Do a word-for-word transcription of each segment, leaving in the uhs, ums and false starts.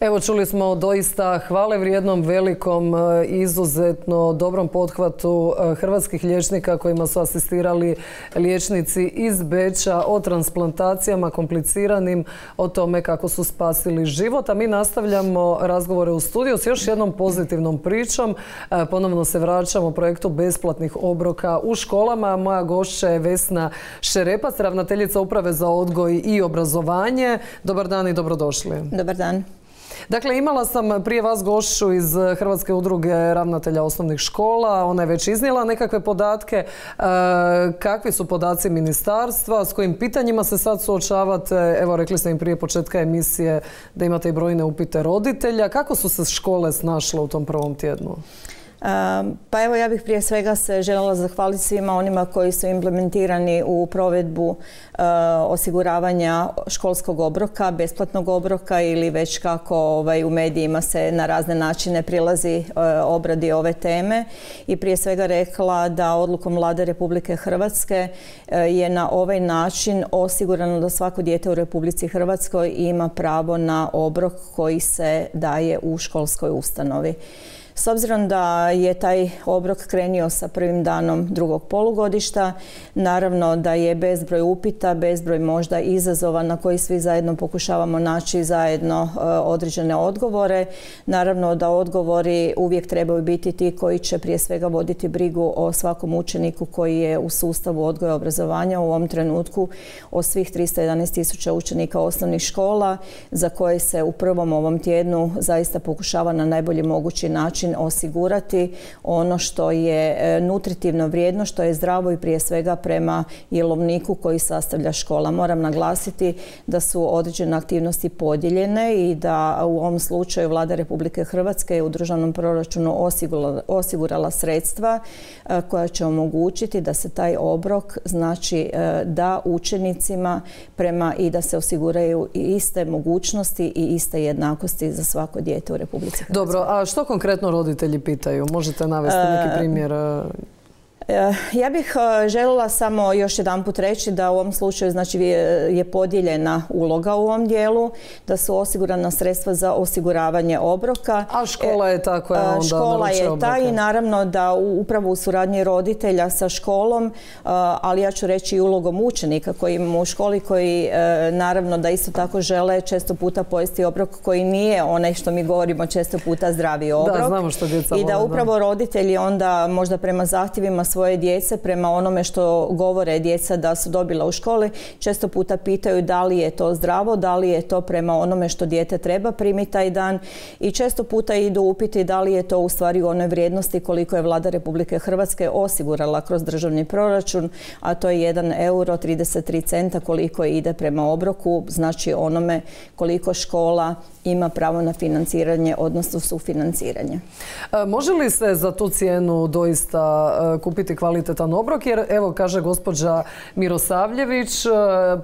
Evo, čuli smo doista hvale vrijednom, velikom, izuzetno dobrom pothvatu hrvatskih liječnika kojima su asistirali liječnici iz Beča o transplantacijama kompliciranim, o tome kako su spasili život. A mi nastavljamo razgovore u studiju s još jednom pozitivnom pričom. Ponovno se vraćamo projektu besplatnih obroka u školama. Moja gošća je Vesna Šerepac, ravnateljica Uprave za odgoj i obrazovanje. Dobar dan i dobrodošli. Dobar dan. Dakle, imala sam prije vas gošću iz Hrvatske udruge ravnatelja osnovnih škola. Ona je već iznijela nekakve podatke. Kakvi su podaci ministarstva? S kojim pitanjima se sad suočavate? Evo, rekli ste im prije početka emisije da imate i brojne upite roditelja. Kako su se škole snašle u tom prvom tjednu? Pa evo, ja bih prije svega se željela zahvaliti svima onima koji su implementirani u provedbu osiguravanja školskog obroka, besplatnog obroka ili već kako ovaj, u medijima se na razne načine prilazi obradi ove teme. I prije svega rekla da odlukom Vlade Republike Hrvatske je na ovaj način osigurano da svako dijete u Republici Hrvatskoj ima pravo na obrok koji se daje u školskoj ustanovi. S obzirom da je taj obrok krenio sa prvim danom drugog polugodišta, naravno da je bezbroj upita, bezbroj možda izazova na koji svi zajedno pokušavamo naći zajedno određene odgovore. Naravno da odgovori uvijek trebaju biti ti koji će prije svega voditi brigu o svakom učeniku koji je u sustavu odgoja i obrazovanja u ovom trenutku, o svih tristo jedanaest tisuća učenika osnovnih škola za koje se u prvom ovom tjednu zaista pokušava na najbolji mogući način osigurati ono što je nutritivno vrijedno, što je zdravo i prije svega prema jelovniku koji sastavlja škola. Moram naglasiti da su određene aktivnosti podijeljene i da u ovom slučaju Vlada Republike Hrvatske je u državnom proračunu osigurala, osigurala sredstva koja će omogućiti da se taj obrok znači da učenicima prema i da se osiguraju i iste mogućnosti i iste jednakosti za svako dijete u Republici Hrvatskoj. Dobro, a što konkretno roditelji pitaju? Možete navesti neki primjer? Ja bih željela samo još jedanput reći da u ovom slučaju znači je podijeljena uloga u ovom dijelu, da su osigurana sredstva za osiguravanje obroka. A škola je ta koja onda Škola je ta i naravno da upravo u suradnji roditelja sa školom, ali ja ću reći i ulogom učenika koji imamo u školi, koji naravno da isto tako žele često puta pojesti obrok koji nije onaj što mi govorimo često puta zdravi obrok. Da, znamo što djeca vole. I da upravo roditelji onda možda prema zahtjevima svoje djece, prema onome što govore djeca da su dobila u školi, često puta pitaju da li je to zdravo, da li je to prema onome što dijete treba primiti taj dan i često puta idu upiti da li je to u stvari u onoj vrijednosti koliko je Vlada Republike Hrvatske osigurala kroz državni proračun, a to je jedan euro trideset tri centa koliko ide prema obroku, znači onome koliko škola ima pravo na financiranje, odnosno sufinanciranje. Može li se za tu cijenu doista kupiti kvalitetan obrok? Jer evo kaže gospođa Mirosavljević,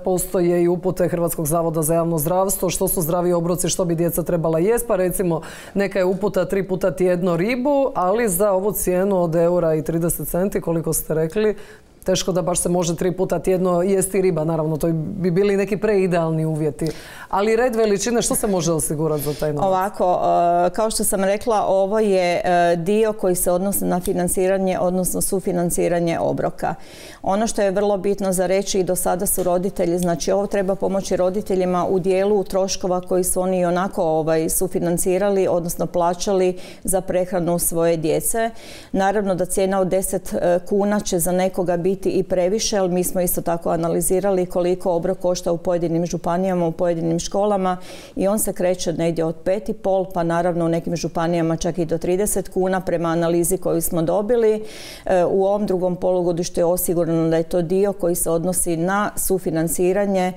postoje i upute Hrvatskog zavoda za javno zdravstvo, što su zdravi obroci, što bi djeca trebala jest, pa recimo neka je uputa tri puta tjedno ribu, ali za ovu cijenu od eura i trideset centi, koliko ste rekli, teško da baš se može tri puta tjedno jesti riba, naravno, to bi bili neki preidealni uvjeti. Ali red veličine, što se može osigurati za taj novac? Ovako, kao što sam rekla, ovo je dio koji se odnosi na financiranje, odnosno sufinanciranje obroka. Ono što je vrlo bitno za reći i do sada su roditelji, znači ovo treba pomoći roditeljima u dijelu troškova koji su oni onako ovaj, sufinancirali, odnosno plaćali za prehranu svoje djece. Naravno da cijena od deset kuna će za nekoga biti i previše, ali mi smo isto tako analizirali koliko obrok košta u pojedinim županijama, u pojedinim školama i on se kreće negdje od pet i pol, pa naravno u nekim županijama čak i do trideset kuna prema analizi koju smo dobili. U ovom drugom polugodištu je osigurano da je to dio koji se odnosi na sufinanciranje,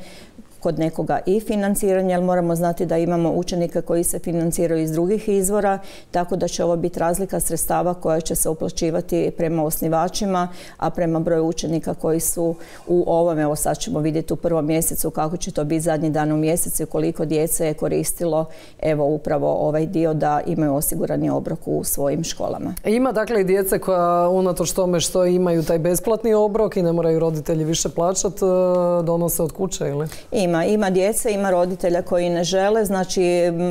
kod nekoga i financiranje, ali moramo znati da imamo učenika koji se financiraju iz drugih izvora, tako da će ovo biti razlika sredstava koja će se uplaćivati prema osnivačima, a prema broju učenika koji su u ovome, evo sad ćemo vidjeti u prvom mjesecu kako će to biti zadnji dan u mjesecu i koliko djece je koristilo evo upravo ovaj dio da imaju osigurani obrok u svojim školama. Ima dakle i djece koja unatoč tome što imaju taj besplatni obrok i ne moraju roditelji više plaćati, donose od kuće ili? Ima. Ima, ima djece, ima roditelja koji ne žele, znači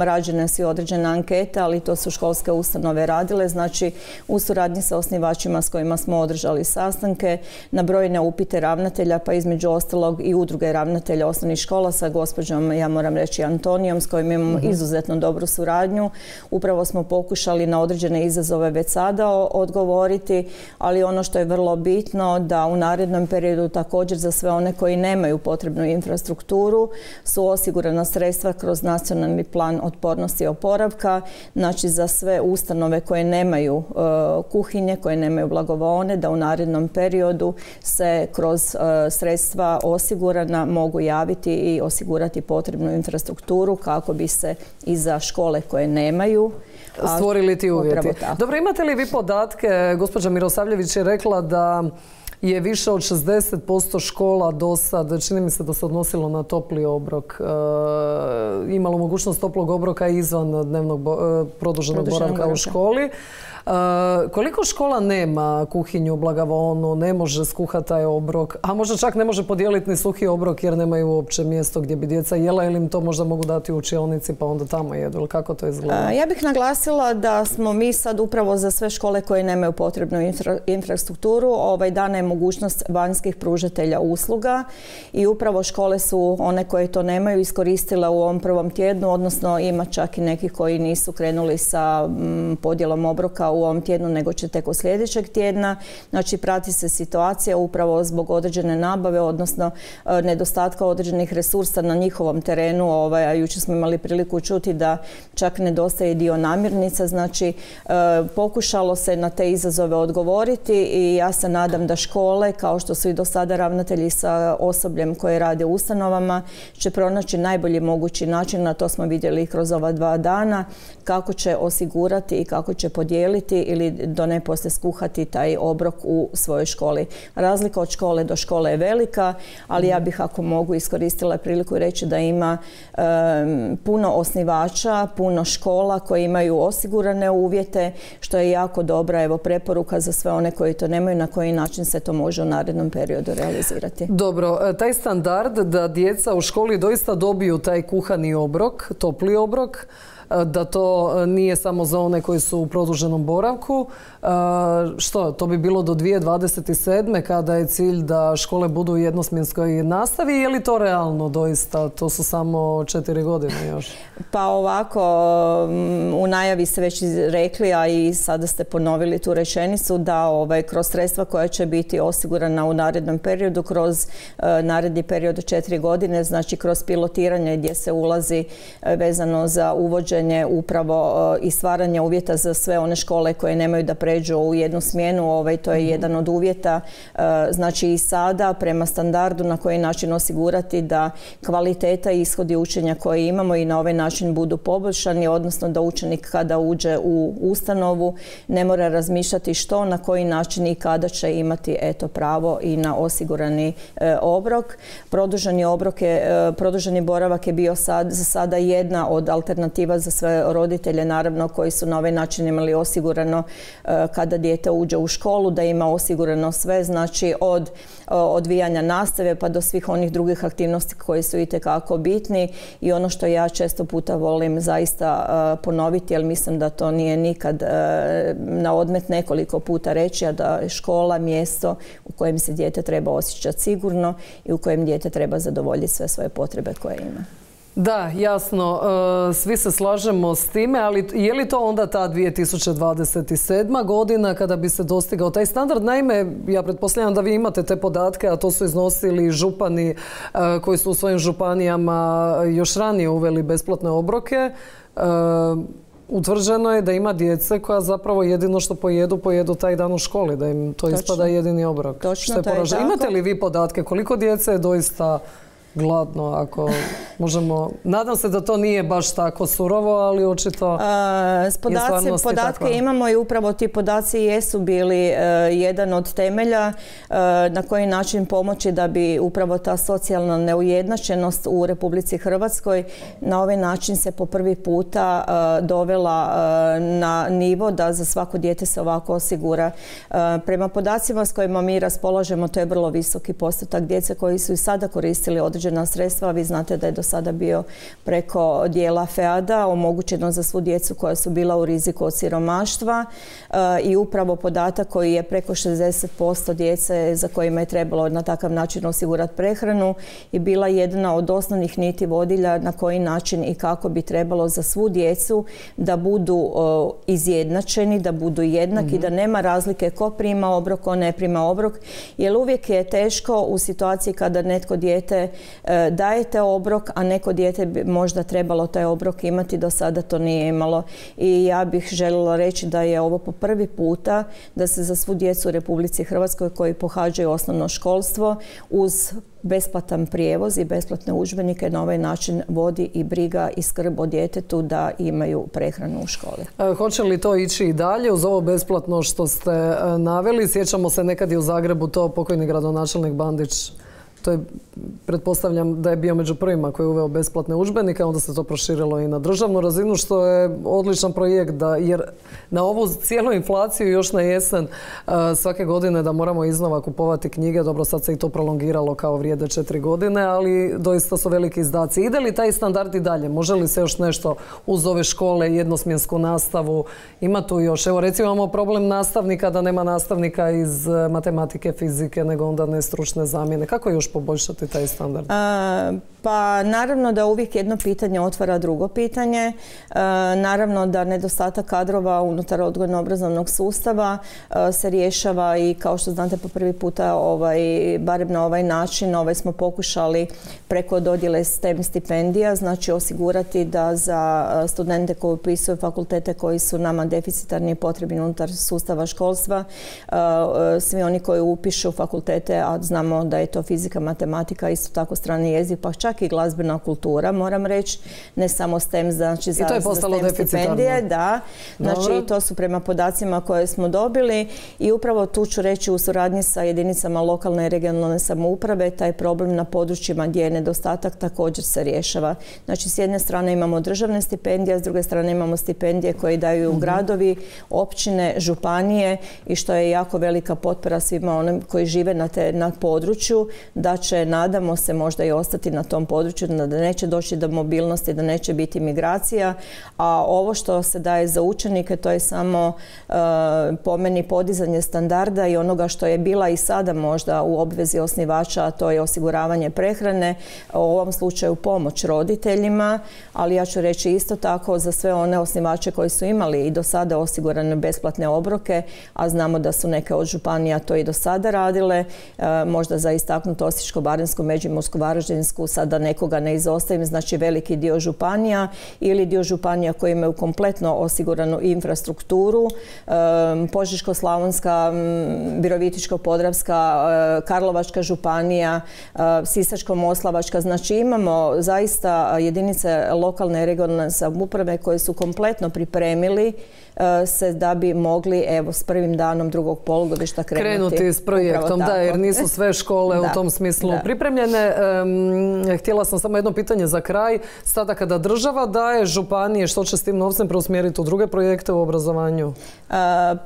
rađene su određene ankete, ali to su školske ustanove radile, znači u suradnji sa osnivačima s kojima smo održali sastanke, na brojne upite ravnatelja, pa između ostalog i udruge ravnatelja osnovnih škola sa gospođom, ja moram reći, Antonijom, s kojim imamo uh-huh. izuzetno dobru suradnju. Upravo smo pokušali na određene izazove već sada odgovoriti, ali ono što je vrlo bitno da u narednom periodu također za sve one koji nemaju potrebnu infrastrukturu su osigurana sredstva kroz nacionalni plan otpornosti i oporavka, znači za sve ustanove koje nemaju uh, kuhinje, koje nemaju blagovaone, da u narednom periodu se kroz uh, sredstva osigurana mogu javiti i osigurati potrebnu infrastrukturu kako bi se i za škole koje nemaju stvorili ti uvjeti. Dobro, imate li vi podatke? Gospođa Mirosavljević je rekla da je više od šezdeset posto škola do sad, čini mi se da se odnosilo na topli obrok, e, imalo mogućnost toplog obroka izvan dnevnog bo, e, produženog boravka u školi. E, koliko škola nema kuhinju, blagovaonu, ne može skuhati taj obrok, a možda čak ne može podijeliti ni suhi obrok jer nemaju uopće mjesto gdje bi djeca jela ili im to možda mogu dati u učionici pa onda tamo jedu, ili kako to izgleda? Ja bih naglasila da smo mi sad upravo za sve škole koje nemaju potrebnu infra, infrastrukturu ovaj dana je mogućnost vanjskih pružatelja usluga i upravo škole su one koje to nemaju iskoristile u ovom prvom tjednu, odnosno ima čak i neki koji nisu krenuli sa m, podjelom obroka u ovom tjednu, nego će tek od sljedećeg tjedna. Znači, prati se situacija upravo zbog određene nabave, odnosno e, nedostatka određenih resursa na njihovom terenu. Ovaj, a jučer smo imali priliku čuti da čak nedostaje dio namirnica. Znači, e, pokušalo se na te izazove odgovoriti i ja se nadam da škole, kao što su i do sada ravnatelji sa osobljem koje rade u ustanovama, će pronaći najbolji mogući način, na to smo vidjeli kroz ova dva dana, kako će osigurati i kako će podijeliti ili do ne poslije skuhati taj obrok u svojoj školi. Razlika od škole do škole je velika, ali ja bih, ako mogu, iskoristila priliku i reći da ima um, puno osnivača, puno škola koje imaju osigurane uvjete, što je jako dobra evo preporuka za sve one koji to nemaju, na koji način se to može u narednom periodu realizirati. Dobro, taj standard da djeca u školi doista dobiju taj kuhani obrok, topli obrok, da to nije samo za one koji su u produženom boravku. Što, to bi bilo do dvije tisuće dvadeset sedme kada je cilj da škole budu u jednosmjenskoj nastavi, je li to realno doista? To su samo četiri godine još. Pa ovako, u najavi ste već rekli, a i sada ste ponovili tu rečenicu, da ovaj, kroz sredstva koja će biti osigurana u narednom periodu, kroz uh, naredni period od četiri godine, znači kroz pilotiranje gdje se ulazi uh, vezano za uvođenje upravo uh, i stvaranje uvjeta za sve one škole koje nemaju da pređu u jednu smjenu, ovaj, to je jedan od uvjeta. Uh, znači i sada prema standardu na koji način osigurati da kvaliteta i ishodi učenja koje imamo i na ovaj način budu poboljšani, odnosno da učenik kada uđe u ustanovu ne mora razmišljati što, na koji način i kada će imati eto pravo i na osigurani e, obrok. Produženi obrok je, e, produženi boravak je bio sad, za sada jedna od alternativa za sve roditelje, naravno, koji su na ovaj način imali osigurano e, kada dijete uđe u školu, da ima osigurano sve, znači od e, odvijanja nastave pa do svih onih drugih aktivnosti koji su itekako bitni. I ono što ja često puta volim zaista uh, ponoviti, jer mislim da to nije nikad uh, na odmet nekoliko puta reći, a da je škola mjesto u kojem se dijete treba osjećati sigurno i u kojem dijete treba zadovoljiti sve svoje potrebe koje ima. Da, jasno, svi se slažemo s time, ali je li to onda ta dvije tisuće dvadeset sedma godina kada bi se dostigao taj standard? Naime, ja pretpostavljam da vi imate te podatke, a to su iznosili župani koji su u svojim županijama još ranije uveli besplatne obroke. Utvrđeno je da ima djece koja zapravo jedino što pojedu, pojedu taj dan u školi, da im to Točno. ispada jedini obrok. Točno, to je tako. Imate li vi podatke koliko djece je doista gladno, ako možemo... Nadam se da to nije baš tako surovo, ali očito je stvarnost podatke takva. Imamo i upravo ti podaci jesu bili uh, jedan od temelja uh, na koji način pomoći da bi upravo ta socijalna neujednačenost u Republici Hrvatskoj na ovaj način se po prvi puta uh, dovela uh, na nivo da za svako dijete se ovako osigura. Uh, prema podacima s kojima mi raspolažemo, to je vrlo visoki postotak djece koji su i sada koristili određene određena sredstva. Vi znate da je do sada bio preko dijela FEAD-a omogućeno za svu djecu koja su bila u riziku od siromaštva i upravo podatak koji je preko šezdeset posto djece za kojima je trebalo na takav način osigurati prehranu i bila jedna od osnovnih niti vodilja na koji način i kako bi trebalo za svu djecu da budu izjednačeni, da budu jednaki, mm-hmm. da nema razlike ko prima obrok, ko ne prima obrok, jer uvijek je teško u situaciji kada netko dijete e, dajete obrok, a neko dijete bi možda trebalo taj obrok imati, do sada to nije imalo. I ja bih željela reći da je ovo po prvi puta da se za svu djecu u Republici Hrvatskoj koji pohađaju osnovno školstvo uz besplatan prijevoz i besplatne udžbenike na ovaj način vodi i briga i skrb o djetetu da imaju prehranu u školi. E, hoće li to ići i dalje uz ovo besplatno što ste e, naveli? Sjećamo se nekad i u Zagrebu to pokojni gradonačelnik Bandić. To je, pretpostavljam da je bio među prvima koji je uveo besplatne udžbenike, onda se to proširilo i na državnu razinu, što je odličan projekt, da, jer na ovu cijelu inflaciju još na jesen uh, svake godine da moramo iznova kupovati knjige, dobro sad se i to prolongiralo kao vrijede četiri godine, ali doista su veliki izdaci. Ide li taj standard i dalje? Može li se još nešto uz ove škole, jednosmjensku nastavu? Ima tu još, evo recimo imamo problem nastavnika, da nema nastavnika iz matematike, fizike, nego onda nestručne zamjene. Kako još poboljšati taj standard? A, pa naravno da uvijek jedno pitanje otvara drugo pitanje. A, naravno da nedostatak kadrova unutar odgojno-obrazovnog sustava a, se rješava i kao što znate po prvi puta ovaj, barem na ovaj način ovaj, smo pokušali preko dodjele STEM stipendija, znači osigurati da za studente koji upisuju fakultete koji su nama deficitarni i potrebni unutar sustava školstva, a, svi oni koji upišu fakultete, a znamo da je to fizika, matematika, isto tako strani jezik, pa čak i glazbena kultura, moram reći, ne samo STEM, znači za, za STEM stipendije, da. Znači i to su prema podacima koje smo dobili i upravo tu ću reći u suradnji sa jedinicama lokalne i regionalne samouprave taj problem na područjima gdje je nedostatak također se rješava. Znači s jedne strane imamo državne stipendije, s druge strane imamo stipendije koje daju mm-hmm. gradovi, općine, županije i što je jako velika potpora svima onim koji žive na, te, na području, da će, nadamo se, možda i ostati na tom području, da neće doći do mobilnosti, da neće biti migracija, a ovo što se daje za učenike to je samo uh, po meni podizanje standarda i onoga što je bila i sada možda u obvezi osnivača, a to je osiguravanje prehrane, u ovom slučaju pomoć roditeljima, ali ja ću reći isto tako za sve one osnivače koji su imali i do sada osigurane besplatne obroke, a znamo da su neke od županija to i do sada radile, uh, možda za istaknuti Osječko-baranjsku, Međimursku, Varaždinsku, sada nekoga ne izostavim, znači veliki dio županija ili dio županija koji imaju kompletno osiguranu infrastrukturu, Požeško-slavonska, Virovitičko-podravska, Karlovačka županija, Sisačko-moslavačka, znači imamo zaista jedinice lokalne i regionalne samouprave koje su kompletno pripremili se da bi mogli evo s prvim danom drugog polugodišta krenuti. Krenuti s projektom, da, jer nisu sve škole da, u tom smislu da. pripremljene. Um, htjela sam samo jedno pitanje za kraj. Sada kada država daje županije, što će s tim novcem preusmjeriti u druge projekte u obrazovanju? Uh,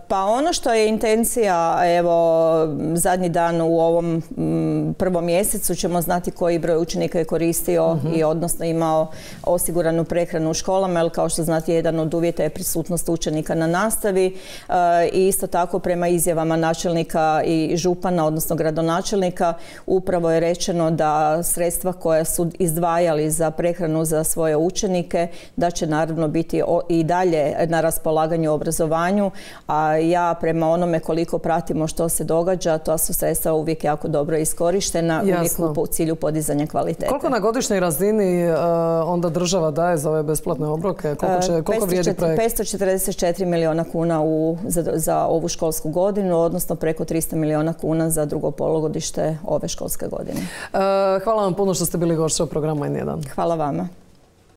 pa ono što je intencija, evo zadnji dan u ovom m, prvom mjesecu ćemo znati koji broj učenika je koristio uh-huh. i odnosno imao osiguranu prehranu u školama, jer kao što znate jedan od uvjeta je prisutnost učenika na nastavi i isto tako prema izjavama načelnika i župana, odnosno gradonačelnika, upravo je rečeno da sredstva koja su izdvajali za prehranu za svoje učenike, da će naravno biti i dalje na raspolaganju u obrazovanju, a ja prema onome koliko pratimo što se događa, to su sredstva uvijek jako dobro iskorištena, uvijek u cilju podizanja kvalitete. Koliko na godišnjoj razini uh, onda država daje za ove besplatne obroke? Koliko, će, koliko vrijedi projekt? petsto četrdeset četiri milijuna kuna u, za, za ovu školsku godinu, odnosno preko tristo milijuna kuna za drugo polugodište ove školske godine. Uh, hvala vam puno što ste bili gošća u programu N jedan. Hvala vama.